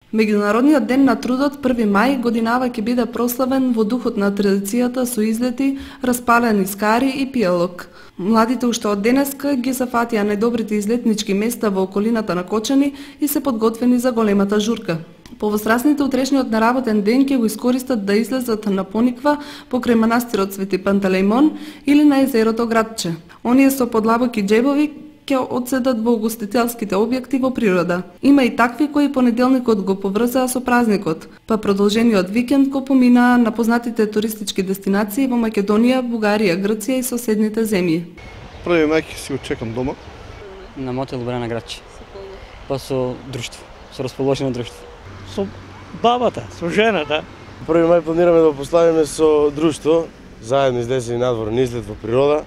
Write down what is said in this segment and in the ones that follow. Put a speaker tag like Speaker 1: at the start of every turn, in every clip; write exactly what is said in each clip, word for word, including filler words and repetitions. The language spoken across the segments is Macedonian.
Speaker 1: Меѓународниот ден на трудот први мај годинава ќе биде прославен во духот на традицијата со излети, распалени скари и пијалок. Младите уште од денеска ги зафатија најдобрите излетнички места во околината на Кочани и се подготвени за големата журка. Повозрасните утрешниот неработен ден ќе го искористат да излезат на пониква покрај манастирот Свети Пантелејмон или на езерото Градче. Оние со подлабоки џебови ќе одседат во угостителските објекти во природа. Има и такви кои понеделникот го поврзаа со празникот, па продолжениот викенд го поминаа на познатите туристички дестинации во Македонија, Бугарија, Грција и соседните земји.
Speaker 2: Први мај ќе си го чекам дома.
Speaker 3: На мотел Брана Градче. Па со друштво, со расположено друштво.
Speaker 4: Со бабата, со жената.
Speaker 5: Први мај планираме да поставиме со друштво, заедно излезени надвор на излет во природа.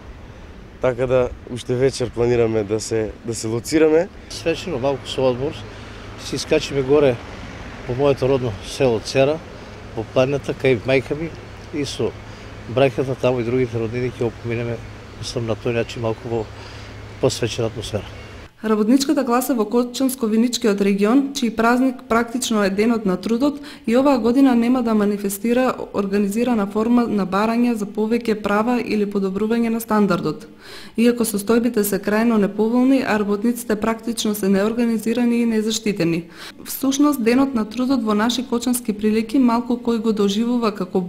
Speaker 5: Така да уште вечер планираме да се да се лоцираме.
Speaker 4: Свечено малку со одмор, си искачиме горе по моето родно село Цера, во планината кај мајка ми и со браќата таму и другите роднини ќе опоминеме, мислам на тој начин малку во посвечена атмосфера.
Speaker 1: Работничката класа во Кочанско-Виничкиот регион, чиј празник практично е денот на трудот, и оваа година нема да манифестира организирана форма на барање за повеќе права или подобрување на стандардот. Иако состојбите се крајно неповолни, а работниците практично се неорганизирани и незаштитени. Всушност, денот на трудот во наши кочански прилики малку кој го доживува како